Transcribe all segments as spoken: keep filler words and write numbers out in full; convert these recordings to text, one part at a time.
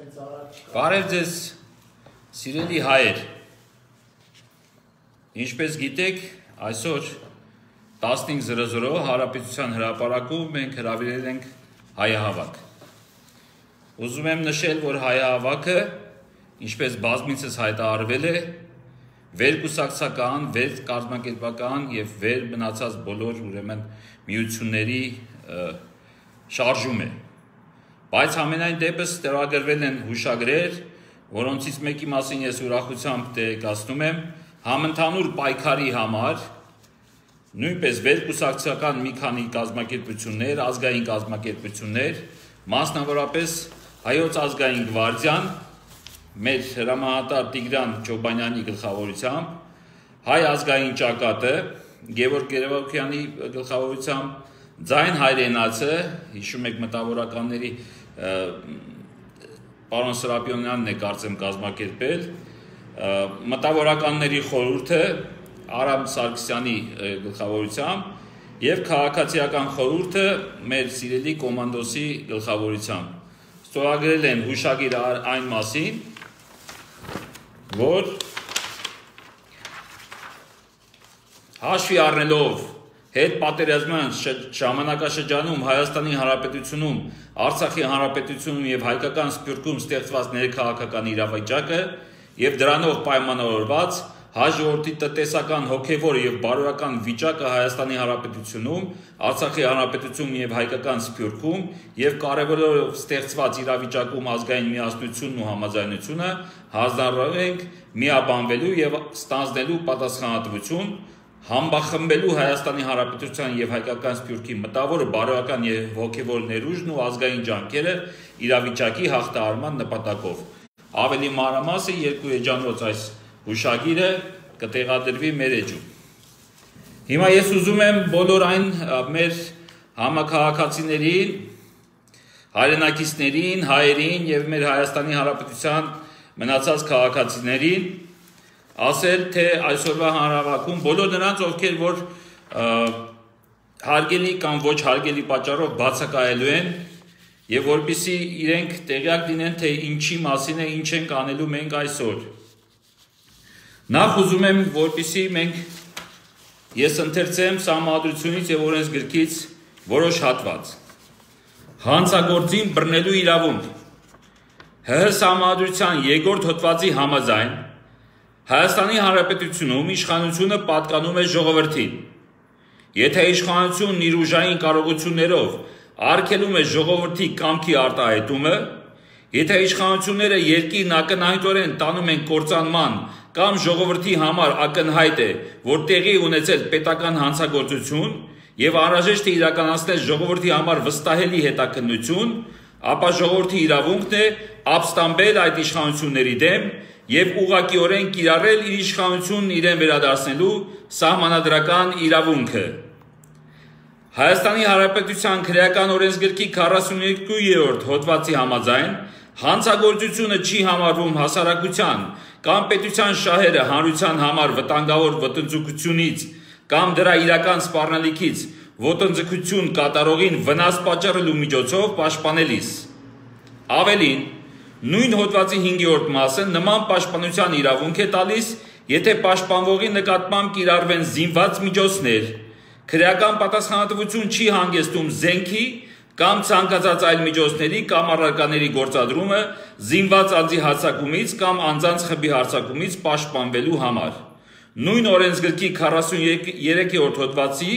Բարև ձեզ, սիրելի հայեր, ինչպես գիտեք, այսօր տասնհինգ զրո զրո Հանրապետության հրապարակում մենք հրավիրել ենք հայահավաք։ Ուզում եմ նշել, որ հայահավաքը, ինչպես բազմիցս հայտարարվել է, վերկուսակցական, վերկազմակերպական եւ վեր մնացած բոլոր ուրեմն միությունների շարժում է։ Բայց ամենայն դեպս ստորագրվել են հուշագրեր, որոնցից մեկի մասին ես ուրախությամբ տեղեկացնում եմ, համընդհանուր պայքարի համար, նույնպես վերկուսակցական մի քանի կազմակերպություններ, ազգային կազմակերպություններ, մասնավորապես Հայոց ազգային գվարդիան, մեր հրամանատար Տիգրան Չոբանյանի գլխավորությամբ, Հայ ազգային ճակատը, Գևորգ Գերեվոկյանի գլխավորությամբ, Ձայն հայրենացը, հիշում եք մտավորականների պարոն Սրապիոնյանն է կարծեմ կազմակերպել, մտավորականների խորհուրդը Արամ Սարգսյանի գլխավորությամբ եւ քաղաքացիական խորհուրդը մեր սիրելի կոմանդոսի գլխավորությամբ ստորագրել են հուշագիր այն մասին, որ հաշվի առնելով հետ պատերազմյան ժամանակաշրջանում Հայաստանի Հանրապետությունում, Արցախի Հանրապետությունում եւ հայկական սփյուռքում ստեղծված ներքաղաքական իրավիճակը եւ դրանով պայմանավորված հայ ժողովրդի տնտեսական, հոգեվոր եւ բարոյական վիճակը Հայաստանի Հանրապետությունում, Արցախի Հանրապետությունում եւ հայկական սփյուռքում եւ կարեւորելով ստեղծված իրավիճակում ազգային միասնությունն ու համաձայնությունը հանձնարարել ենք միաբանվելու եւ ստանձնելու պատասխանատվություն համբախմբելու Հայաստանի Հանրապետության եւ հայկական սփյուռքի մտավոր բարոյական եւ հոգեվոր ներուժն ու ազգային ջանքերը իրավիճակի հաղթահարման նպատակով։ Ավելի մանրամասն երկու էջանոց այս հուշագիրը կտեղադրվի մեր էջում։ Հիմա ես ուզում եմ բոլոր այն մեր համաքաղաքացիներին, հայրենակիցներին, հայերին եւ մեր Հայաստանի Հանրապետության մնացած քաղաքացիներին ասել, թե այսօրվա հանրահավաքում բոլոր նրանց, ովքեր որ հարգելի կամ ոչ հարգելի պատճառով բացակայելու են եւ որպեսզի իրենք տեղյակ լինեն, թե ինչի մասին է, ինչ ենք անելու մենք այսօր։ Նախ ուզում եմ, որպեսզի մենք ես ընթերցեմ Սահմանադրությունից եւ օրենսգրքից որոշ հատված։ Հանցագործին բռնելու իրավունք ՀՀ Սահմանադրության երկրորդ հոդվածի համաձայն Հայաստանի Հանրապետությունում իշխանությունը պատկանում է ժողովրդին։ Եթե իշխանությունն իր ուժային կարողություններով արգելում է ժողովրդի կամքի արտահայտումը, եթե իշխանությունները երկիրն ակնհայտորեն տանում են կործանման կամ ժողովրդի համար ակնհայտ է, որ տեղի ունեցել պետական հանցագործություն եւ անհրաժեշտ է իրականացնել ժողովրդի համար վստահելի հետաքննություն, ապա ժողովրդի իրավունքն է ապստամբել այդ իշխանությունների դեմ եւ ուղղակիորեն կիրառել իր իշխանությունն իրեն վերադարձնելու սահմանադրական իրավունքը։ Հայաստանի Հանրապետության քրեական օրենսգրքի քառասունյոթերորդ հոդվածի համաձայն հանցագործությունը չի համարվում հասարակության կամ պետության շահերը հանրության համար վտանգավոր ոտնձգությունից կամ դրա իրական սպառնալիքից ոտնձգություն կատարողին վնաս պատճառելու միջոցով պաշտպանելիս։ Ավելին, նույն հոդվածի հինգերորդ մասը նման պաշտպանության իրավունք է տալիս, եթե պաշտպանվողի նկատմամբ կիրառվեն զինված միջոցներ, քրեական պատասխանատվություն չի հանգեցնում զենքի կամ ցանկացած այլ միջոցների կամ առարկաների գործադրումը զինված անձի հարձակումից կամ անձանց խմբի հարձակումից պաշտպանվելու համար։ Նույն օրենսգրքի քառասուներորդ հոդվածի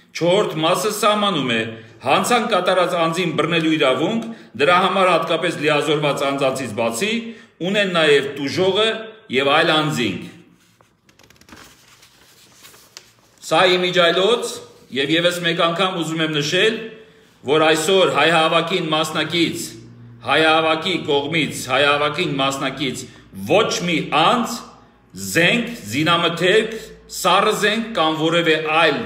չորրորդ մասը սահմանում է հանցանք կատարած անձին բռնելու իրավունք, դրա համար հատկապես լիազորված անձանցից բացի, ունեն նաև տուժողը եւ այլ անձինք։ Սա իմիջայլոց եւ եւս մեկ անգամ ուզում եմ նշել, որ այսօր հայահավաքին մասնակից, հայահավաքի կողմից, հայահավաքին մասնակից ոչ մի անձ, զենք, զինամթերք, սառը զենք կամ որևէ այլ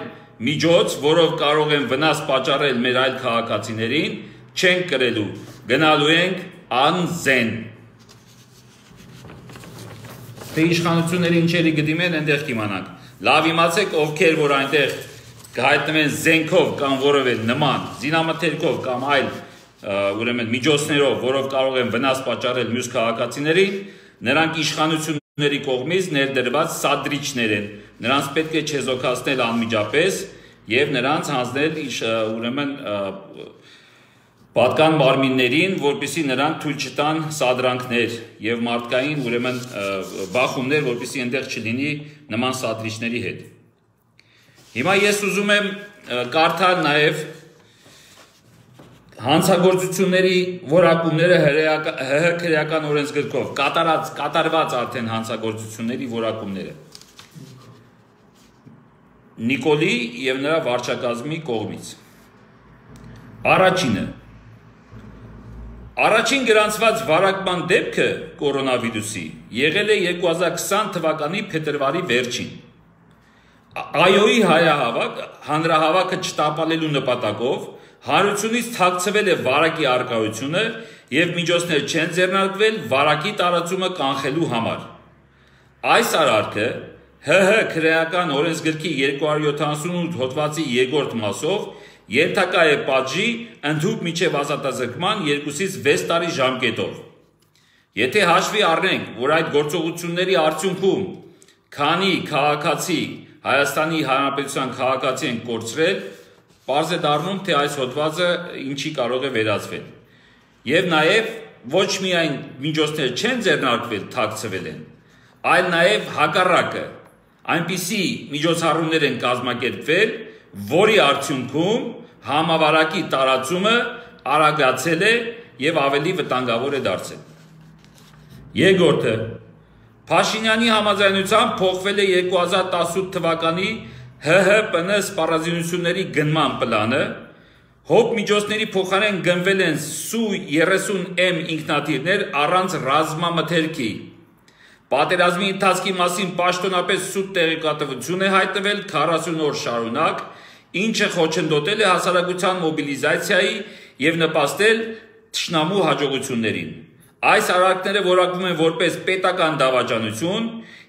միջոց, որով կարող են վնաս պատճառել մեր այլ քաղաքացիներին, չենք կրելու, գնալու ենք անզեն։ Թե իշխանությունները ինչերի գդիմեն, այնտեղ կիմանանք։ Լավ իմացեք, ովքեր որ այնտեղ կհայտնվեն զենքով կամ որևէ նման, զինամթերքով կամ այլ ուրեմն միջոցներով, որով կարող են վնաս պատճառել մյուս քաղաքացիներին, նրանք իշխանությունների կողմից ներդրված սադրիչներ են, նրանց պետք է չեզոքացնել անմիջապես եւ նրանց հանձնել ուրեմն պատկան մարմիններին, որպեսզի նրանք թույլ չտան սադրանքներ եւ մարդկային ուրեմն բախումներ, որպեսզի այնտեղ չլինի նման սադրիչների հետ։ Հիմա ես ուզում եմ կարդալ նաեւ հանցագործությունների որակումները ՀՀ քրեական օրենսգրքով կատարած կատարված արդեն հանցագործությունների որակումները Նիկոլի եւ նրա վարչակազմի կողմից։ Առաջինը Առաջին գրանցված վարակման դեպքը կորոնավիրուսի եղել է երկու հազար քսան թվականի փետրվարի վերջին։ Այոյի հայահավաք հանրահավաքը չտապալելու նպատակով հանրությունից թաքցվել է վարակի առկայությունը եւ միջոցներ չեն ձեռնարկվել վարակի տարածումը կանխելու համար։ Այս արարքը ՀՀ քրեական օրենսգրքի երկու հարյուր յոթանասունութ հոդվածի երկրորդ մասով ենթակա է պատժի ընդհուպ միջև ազատազրկման երկուսից վեց տարի ժամկետով։ Եթե հաշվի առնենք, որ այդ գործողությունների արդյունքում քանի քաղաքացի Հայաստանի Հանրապետության քաղաքացի են կորցրել, պարզ է դառնում, թե այս հոդվածը ինչի կարող է վերածվել։ Եվ նաև ոչ միայն միջոցներ չեն ձեռնարկվել, թաքցվել են, այլ նաև հակառակը, այնպիսի միջոցառումներ են կազմակերպվել, որի արդյունքում համավարակի տարածումը արագացել է եւ ավելի վտանգավոր է դարձել։ Երկրորդը Փաշինյանի համաձայնությամբ փոխվել է երկու հազար տասնութ թվականի ՀՀՊՆ սպառազինությունների գնման պլանը, հոբ միջոցների փոխարեն գնվել են Սու երեսուն էմ ինքնաթիռներ առանց ռազմամթերքի։ Պատերազմի ընթացքի մասին պաշտոնապես սուտ տեղեկատվություն է հայտնվել քառասուն օր շարունակ, ինչը խոչընդոտել է հասարակության մոբիլիզացիայի եւ նպաստել թշնամու հաջողություններին։ Այս արարքները որակվում են որպես պետական դավաճանություն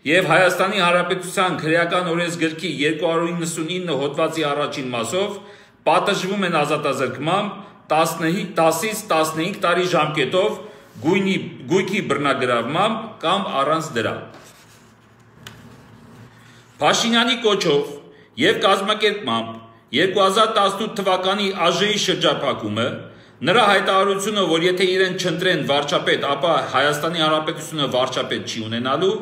եւ Հայաստանի Հանրապետության քրեական օրենսգրքի երկու հարյուր իննսունինը հոդվածի առաջին մասով պատժվում են ազատազրկմամբ տասնից տասնհինգ տարի ժամկետով գույնի գույքի բռնագրավմամբ կամ առանց դրա։ Փաշինյանի կոչով եւ կազմակերպմամբ երկու հազար տասնութ թվականի ԱԺ-ի շրջափակումը, նրա հայտարարությունը, որ եթե իրեն չընտրեն վարչապետ, ապա Հայաստանի Հանրապետությունը վարչապետ չի ունենալու,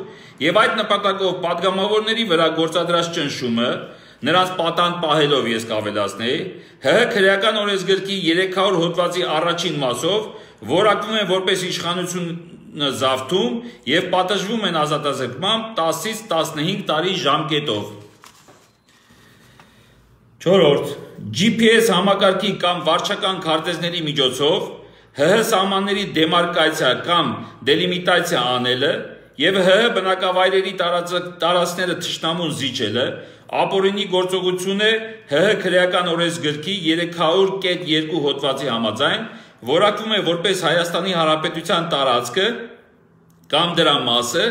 եւ այդ նպատակով падգամավորների վրա գործադրած ճնշումը, նրանց պատանդ պահելով ես կավելացնեի, ՀՀ քրեական օրենսգրքի երեք հարյուր հոդվածի առաջին մասով որակվում են որպես իշխանությունը զավթում եւ պատժվում են ազատազրկմամբ տասնից տասնհինգ տարի ժամկետով։ Չորրորդ Ջի Փի Էս համակարգի կամ վարչական քարտեզների միջոցով ՀՀ սահմանների դեմարկացիա կամ դելիմիտացիա անելը եւ ՀՀ բնակավայրերի տարածքները թշնամուն զիջելը ապօրինի գործողություն է ՀՀ քրեական օրենսգրքի երեք հարյուր երկու հոդվածի համաձայն, որակվում է որպես Հայաստանի Հանրապետության տարածքը կամ դրա մասը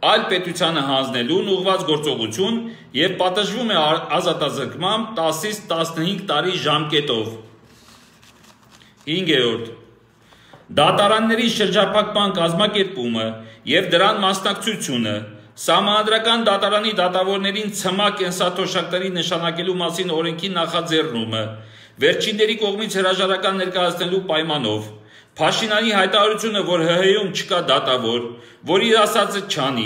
այլ պետությանը հանձնելուն ուղղված գործողություն եւ պատժվում է ազատազրկմամբ տասնից տասնհինգ տարի ժամկետով։ Հինգերորդ Դատարանների շրջափակման կազմակերպումը եւ դրան մասնակցությունը Սահմանադրական դատարանի դատավորներին ցմահ կենսաթոշակների նշանակելու մասին օրենքի նախաձեռնումը վերջինների կողմից հրաժարական ներկայացնելու պայմանով Փաշինյանի հայտարարությունը, որ ՀՀ-ում չկա դատավոր, որ իր ասածը չանի,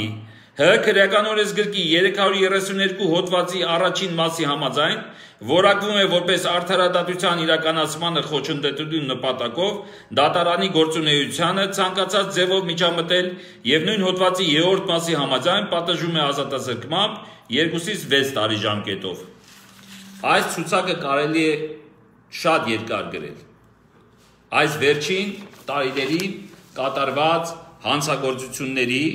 ՀՀ քրեական օրենսգրքի երեք հարյուր երեսուն երկու հոդվածի առաջին մասի համաձայն, որակվում է որպես արդարադատության իրականացմանը խոչընդոտելու նպատակով դատարանի գործունեությանը ցանկացած ձևով միջամտել եւ նույն հոդվածի երրորդ մասի համաձայն պատժում է ազատազրկմամբ երկուսից վեց տարի ժամկետով։ Այս ցուցակը կարելի է շատ երկար գրել։ Այս վերջին տարիների կատարված հանցագործությունների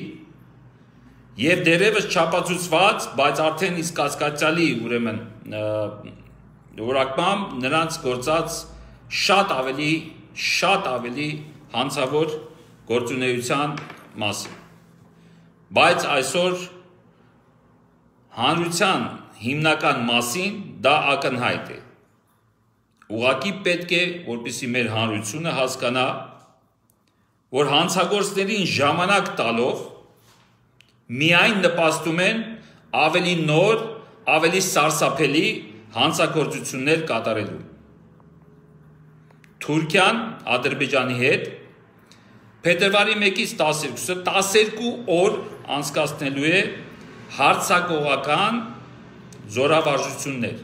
եւ դերևս չափածուցված, բայց արդեն իսկ կասկածալի ուրեմն որակմամբ նրանց գործած շատ ավելի շատ ավելի հանցավոր գործունեության մասին։ Բայց այսօր հանրության հիմնական մասին դա ակնհայտ է։ ուղղակի պետք է, որպեսզի մեր հանրությունը հասկանա, որ հանցագործներին ժամանակ տալով միայն նպաստում են ավելի նոր, ավելի սարսափելի հանցագործություններ կատարելու։ Թուրքիան Ադրբեջանի հետ փետրվարի մեկից տասներկուսը տասներկու օր անցկացնելու է հարձակողական զորավարժություններ,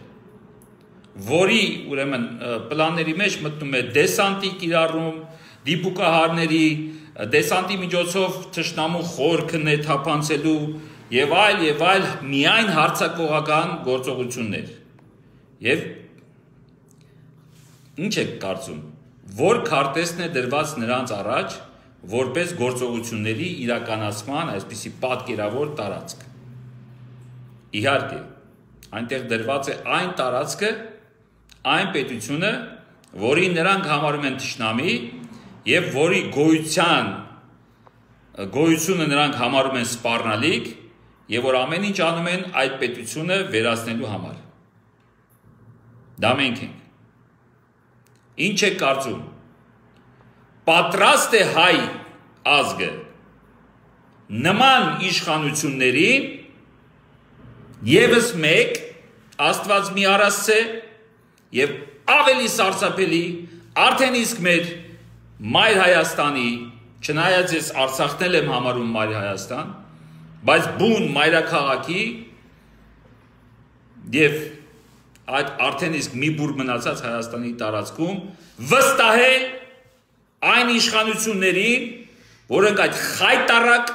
որի ուրեմն պլանների մեջ մտնում է դեսանտի կիրառում, դիպուկահարների, դեսանտի միջոցով թշնամու խորքը թափանցելու եւ այլ եւ այլ միայն հարձակողական գործողություններ։ Եվ ինչ եք կարծում, որ քարտեզն է դրված նրանց առաջ որպես գործողությունների իրականացման այսպիսի պատկերավոր տարածք։ Իհարկե, այնտեղ դրված է այն տարածքը, այն պետությունը, որին նրանք համարում են թշնամի եւ որի գոյության գոյությունը նրանք համարում են սպառնալիք եւ որ ամեն ինչ անում են այդ պետությունը վերացնելու համար։ Դա մենք ենք։ Ինչ է կարծում։ Պատրաստ է հայ ազգը նման իշխանությունների եւս մեկ Աստված մի արասցե եւ ավելի սարսափելի արդեն իսկ մեր մայր Հայաստանի, չնայած ես Արցախն էլ եմ համարում մայր Հայաստան, բայց բուն մայրաքաղաքի եւ այդ արդեն իսկ մի բուր մնացած Հայաստանի տարածքում վստահել այն իշխանություններին, որոնք այդ խայտարակ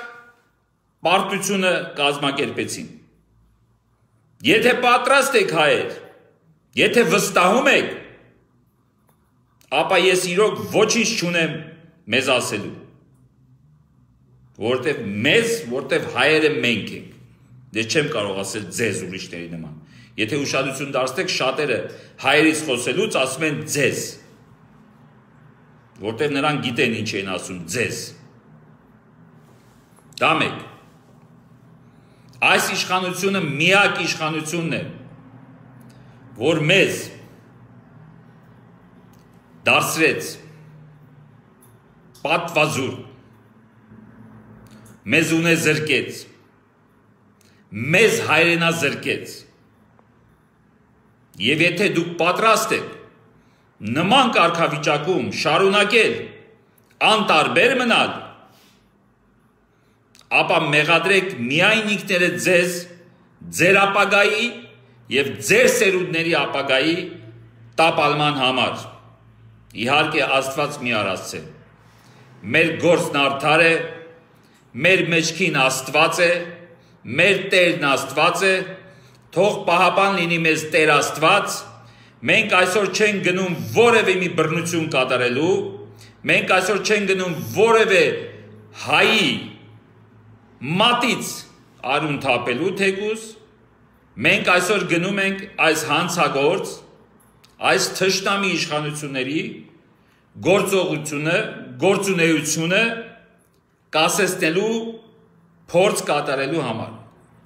պարտությունը կազմակերպեցին։ Եթե պատրաստ եք հայեր, եթե վստահում եք, ապա ես իրոք ոչինչ չունեմ մեզ ասելու, որտեվ մեզ, որտեվ հայերը մենք ենք, ես չեմ կարող ասել ձեզ ուրիշների նման, եթե ուշադրություն դարձնեք շատերը հայերից խոսելուց ասում են ձեզ, որտեվ նրանք գիտեն ինչ են ասում ձեզ, դա մեկ, այս իշխանությունը միակ իշխանությունն է, որ մեզ դարձրեց պատվազուր, մեզ ունե զրկեց, մեզ հայրենազրկեց, եւ եթե դուք պատրաստ եք նման կարգավիճակում շարունակել անտարբեր մնալ, ապա մեղադրեք միայն ինքներդ ձեզ, ձեր ապագայի եւ ձեր սերունդների ապագայի տապալման համար։ Իհարկե Աստված մի արածց է։ Մեր գործն արդար է, մեր մեջքին Աստված է, մեր Տերն Աստված է, թող պահապան լինի մեզ Տեր Աստված, մենք այսօր չենք գնում որևէ մի բռնություն կատարելու, մենք այսօր չենք գնում որևէ հայի մատից արուն թափելու թեկուզ, մենք այսօր գնում ենք այս հանցագործ, այս թշնամի իշխանությունների գործողությունը, գործունեությունը կասեցնելու փորձ կատարելու համար։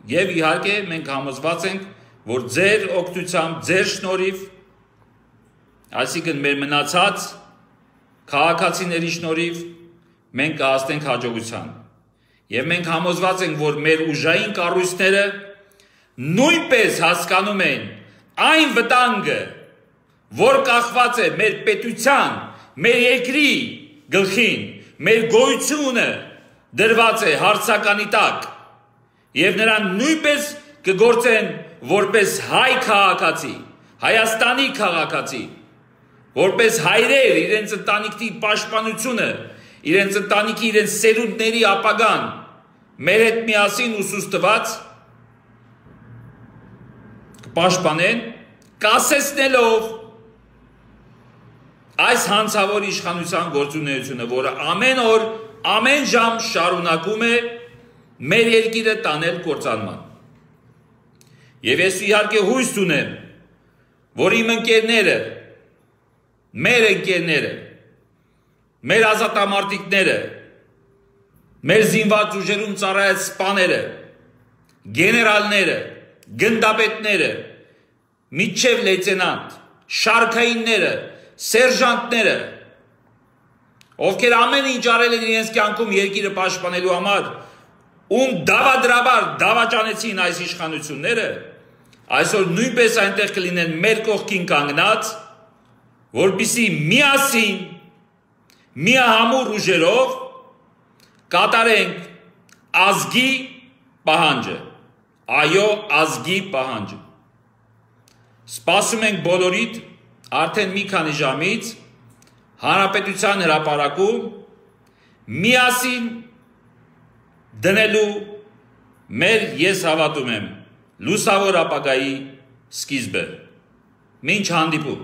Եվ իհարկե մենք համոզված ենք, որ ձեր օգնությամբ, ձեր շնորհիվ, այսինքն մեր մնացած քաղաքացիների շնորհիվ մենք կհասնենք հաջողության։ Եվ մենք համոզված ենք, որ մեր ուժային կառույցները նույնպես հասկանում են այն վտանգը, որ կախված է մեր պետության, մեր երկրի գլխին, մեր գոյությունը դրված է հարցականի տակ, եւ նրան նույնպես կգործեն որպես հայ քաղաքացի, Հայաստանի քաղաքացի, որպես հայրեր իրենց ընտանիքի պաշտպանությունը, իրենց ընտանիքի, իրենց սերունդների ապագան մեր հետ միասին ուսուստված կպաշտպանեն, կասեցնելով այս հանցավոր իշխանության գործունեությունը, որը ամեն օր, ամեն ժամ շարունակում է մեր երկիրը տանել կործանման։ Եվ ես իհարկե հույս ունեմ, որ իմ ընկերները, մեր ընկերները, մեր ազատամարտիկները, մեր զինված ուժերում ծառայած սպաները, գեներալները, գնդապետները, միջև լեյտենանտ, շարքայինները, սերժանտները, ովքեր ամեն ինչ արել են իրենց կյանքում երկիրը պաշտպանելու համար, ում դավադրաբար դավաճանեցին այս իշխանությունները, այսօր նույնպես այնտեղ կլինեն մեր կողքին կանգնած, որպեսզի միասին, միահամուռ ուժերով կատարենք ազգի պահանջը, այո, ազգի պահանջը։ Սպասում ենք բոլորիդ արդեն մի քանի ժամից Հանրապետության հրապարակում միասին դնելու մեր ես հավատում եմ լուսավոր ապագայի սկիզբը։ Մինչ հանդիպում։